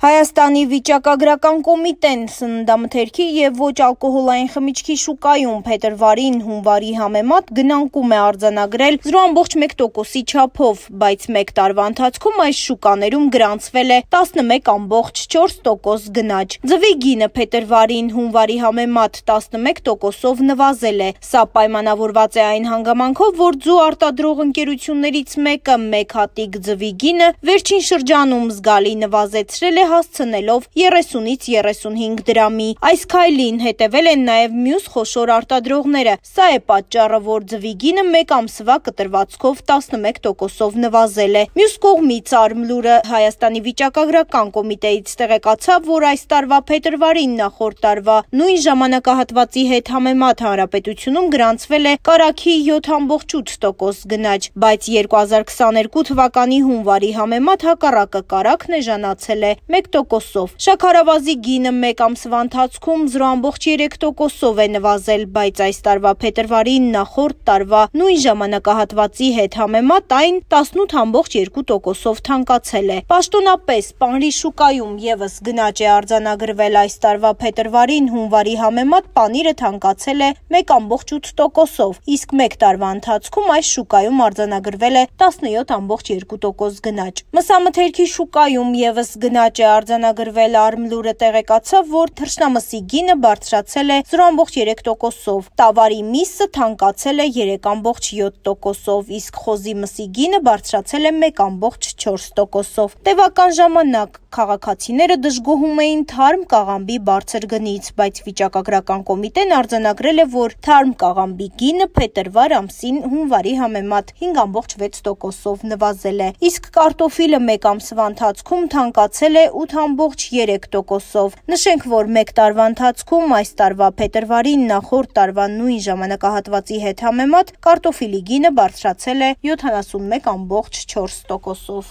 Հայաստանի վիճակագրական կոմիտեն սննդամթերքի և ոչ ալկոհոլային խմիչքի շուկայում փետրվարին հունվարի համեմատ գնանկում է արձանագրել 0,1%-ի չափով, բայց մեկ տարվա ընթացքում այս շուկաներում գրանցվել է 11,4% գնաճ։ Ձվի գինը փետրվարին հունվարի համեմատ 11%-ով նվազել է։ Սա պայմանավորված է այն հանգամանքով, որ ձու արտադրող ընկերություններից մեկը մեկ հատիկ ձվի գինը վերջին շրջանում զգալի նվազեցրել է հասցնելով 30-ից 35 դրամի։ Այս քայլին հետևել են նաև մյուս խոշոր արտադրողները։ Սա է պատճառը, որ ձվի գինը մեկ ամսվա կտրվածքով 11%-ով նվազել է։ Մյուս կողմից Արմլուրը Հայաստանի վիճակագրական կոմիտեից տեղեկացավ, որ այս տարվա փետրվարին նախորդ տարվա նույն ժամանակահատվածի հետ համեմատ հանրապետությունում գրանցվել է կարագի 7,8% գնաճ, բայց 2022 թվականի հունվարի համեմատ հակառակը կարագն էժանացել է 1%-ով։ Շաքարավազի գինը մեկ ամսվա ընթացքում 0,3%-ով է նվազել, բայց այս տարվա փետրվարին նախորդ տարվա նույն ժամանակահատվածի հետ համեմատ այն 18,2%-ով թանկացել է։ Պաշտոնապես պանրի շուկայում ևս գնաճ է արձանագրվել այս տարվա փետրվարին հունվարի համեմատ պանիրը թանկացել է 1,8%-ով, իսկ մեկ տարվա ընթացքում այս շուկայում արձանագրվել է 17,2% գնաճ։ Մսամթերքի շուկայում ևս գնաճ է արձանագրվել, Արմլուրը տեղեկացավ, որ թռչնամսի գինը բարձրացել է 0,3%-ով, տավարի միսը թանկացել է 3,7%-ով, իսկ խոզի մսի գինը բարձրացել է 1,4%-ով։ Տևական ժամանակ քաղաքացիները դժգոհում էին թարմ կաղամբի բարձր գնից, բայց վիճակագրական կոմիտեն արձանագրել է, որ թարմ կաղամբի գինը փետրվար ամսին հունվարի համեմատ 5,6%-ով նվազել է, իսկ կարտոֆիլը մեկ ամսվա ընթացքում թանկացել է 8,3%-ով։ Նշենք, որ մեկ տարվա ընթացքում այս տարվա փետրվարին նախորդ տարվա նույն ժամանակահատվածի հետ համեմատ կարտոֆիլի գինը բարձրացել է 71,4%-ով։